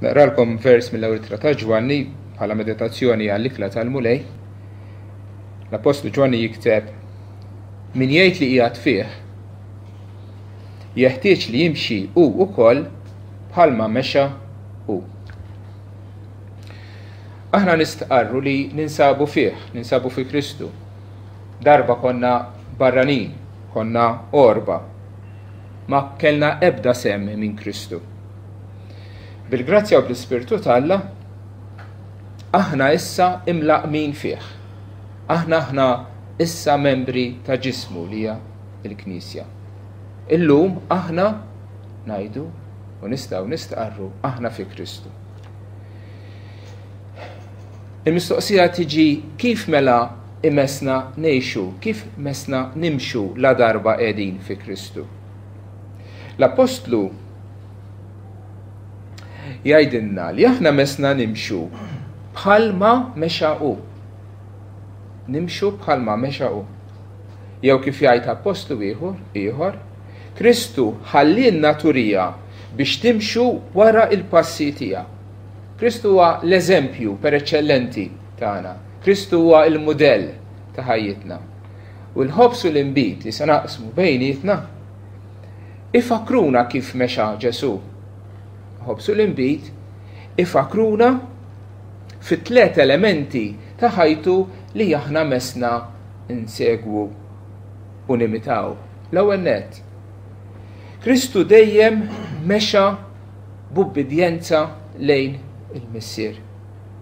Naqralkom vers mill-ewwel ittra ta' Ġwanni bħala meditazzjoni għall-ikla tal-Mulej. L-Appostlu Ġwanni jikteb min jgħid li qiegħed fih jeħtieġ li jimxi hu wkoll bħalma mexa hu. Aħna nistqarru li ninsabu fih, ninsabu fi Kristu. Darba konna barranin, konna orba. Ma kellna ebda sem minn Kristu. Bil-grazzja u bl-Ispirtu t'Alla, aħna issa imlaqmin fih. Aħna aħna issa membri ta' ġismu li hija l-Knisja. Illum aħna ngħidu u nistgħu nistqarru aħna fi Kristu. Il-mistoqsija tiġi kif mela imesna ngħixu, kif mesna nimxu la darba qegħdin fi Kristu. L-Appostlu jgħidilna li aħna mesna nimxu bħalma mexa hu. Nimxu bħalma mexa hu. Jew kif jgħid appostlu ieħor, ieħor, Kristu ħallielna turija biex timxu wara il-passi tiegħu. Kristu huwa l-eżempju per eċċellenti tagħna. Kristu huwa l-mudell ta' ħajjitna. U l-ħobż u l-inbid li se naqsmu bejnietna ifakruna kif mexa Ġesù. Ħobż u l-inbid ifakruna fit-tlet elementi ta' ħajtu li aħna mesna nsegwu u nimitaw. L-ewwel nett, Kristu dejjem mexa b'ubbidjenza lejn il-Missier.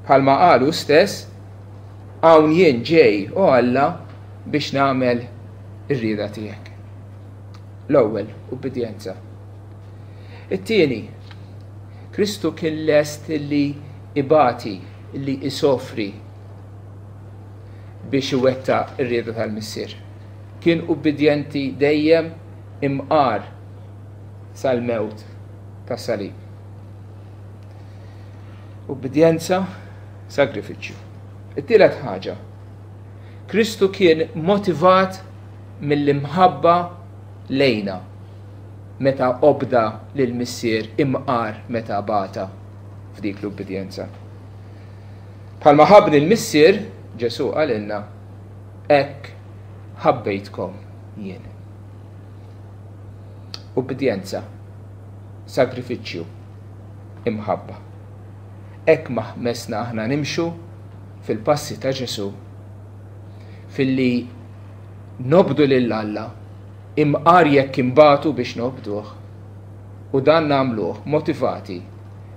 Bħalma qal hu stess, hawn jien ġej, o Alla, biex nagħmel ir-rieda tiegħek. L-ewwel, ubbidjenza. It-tieni, Kristu kien lest li ibati, li isofri biex iwettaq ir-rieda tal-Missier. Kien ubbidjenti dejjem imqar sal-mewt tas-salib. Ubbidjenza, sagrifiċċju. It-tielet ħaġa, Kristu kien motivat mill-imħabba lejna meta obda lill-Missier imqar meta bata f'dik l-ubbidjenza. Bħalma ħabbni l-Missier, Ġesù qalilna, hekk ħabbejtkom jien. Ubbidjenza, sagrifiċċju, imħabba. Hekk messna aħna nimxu fil-passi ta' Ġesù filli nobdu lil Alla imqar jekk imbatu biex nobduh u dan nagħmluh motivati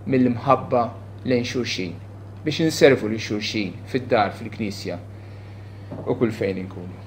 mill-imħabba lejn xulxin biex inservu lil xulxin fid-dar, fil-knisja u kull fejn inkunu.